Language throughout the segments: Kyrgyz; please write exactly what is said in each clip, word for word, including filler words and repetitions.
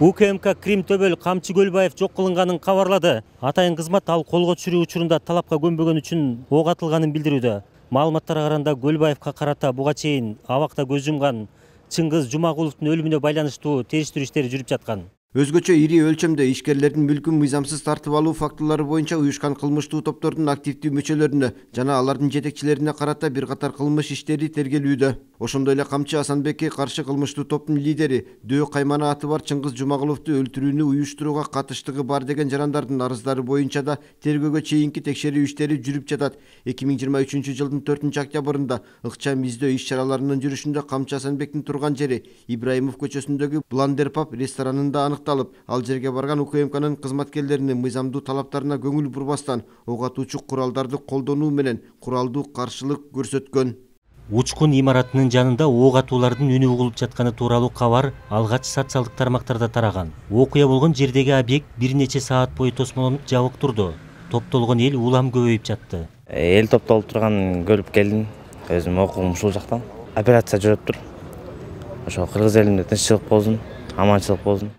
УКМК Крим Төбөл Камчы Көлбаев жок кылынганын кабарлады. Атайын кызмат ал колго түшүрүү учурунда талапка көнбөгөн үчүн ок атылганын билдирүүдө. Маалыматтарга караганда Көлбаевка карата буга чейин абакта көз жумган Чыңгыз Жумагуловдун өлүмүнө байланыштуу териштирүү иштери жүрүп жаткан. Өзгөчө ири өлчөмдө ишкерлердин мүлкүн мыйзамсыз тартып алуу фактылары боюнча уюшкан кылмыштуу топтордун активдүү мүчөлөрүнө жана алардын жетекчилерине карата бир катар кылмыш иштери тергелүүдө. Ошондой эле Камчы Асанбекке каршы кылмыштуу топтун лидери Дөө каймана аты бар Чыңгыз Жумагуловду өлтүрүүнү уюштурууга катыштыгы бар деген жарандардын арыздары боюнча да тергөөгө чейинки текшерүү иштери жүрүп жатат. эки миң жыйырма үчүнчү жылдын төртүнчү октябрында ыкчам издөө иш чараларынын жүрүшүндө Камчы Асанбектин турган жери Ибраимов көчөсүндөгү Бландер паб ресторанында аныкталып, ал жерге барган УКМКнын кызматкерлеринин мыйзамдуу талаптарына көңүл бурбастан ок атуучу куралдарды колдонуу менен куралдуу каршылык көрсөткөн. Учкун имаратынын жанында ок атуулардын үнү угулуп жатканы тууралуу кабар алгач социалдык тармактарда тараган. Окуя болгон жердеги объект бир нече саат бою тосмолонуп жабык турду. Топтолгон эл улам көбөйүп жатты. Эл топтолуп турганын көрүп келдим. Өзүм окуум ушул жактан. Операция жүрүп тур. Ошо кыргыз элинде тынччылык болсун, аманчылык болсун.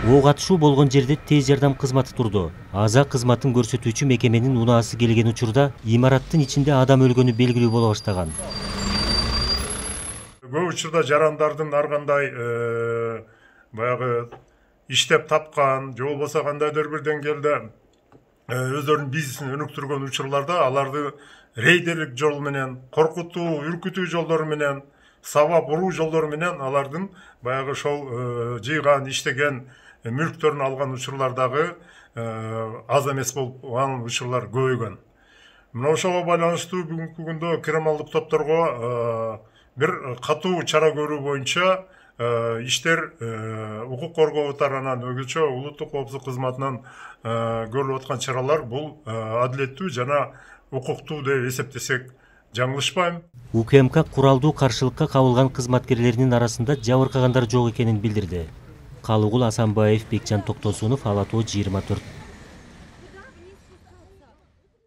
Ок атышуу болгон жерде тез жардам кызматы турду. Аза кызматын көрсөтүүчү мекеменин унаасы келген учурда имараттын ичинде адам өлгөнү белгилүү боло баштаган. Көп учурда жарандардын ар кандай баягы иштеп тапкан, же болбосо кандайдыр бир деңгээлде өздөрүнүн бизнесин өнүктүргөн учурларда аларды рейдерлик жол менен, коркутуу, үркүтүү жолдору менен, сабап уруу жолдору менен алардын баягы ошол жыйган, иштеген мүлктөрүн алган учурлардагы аз эмес болгон учурлар көбөйгөн. Мына ошого байланыштуу бүгүнкү күндө криминалдык топторго бир катуу чара көрүү боюнча иштер укук коргоо тарабынан өзгөчө улуттук коопсуздук кызматынан көрүлүп аткан чаралар бул адилеттүү жана укуктуу деп эсептесек жаңылышпайм. УКМК куралдуу каршылыкка кабылган кызматкерлеринин арасында жабыркагандар жок экенин билдирди. Калыгул Асанбаев, Бекжан Токтосунов, Ала тоо жыйырма төрт.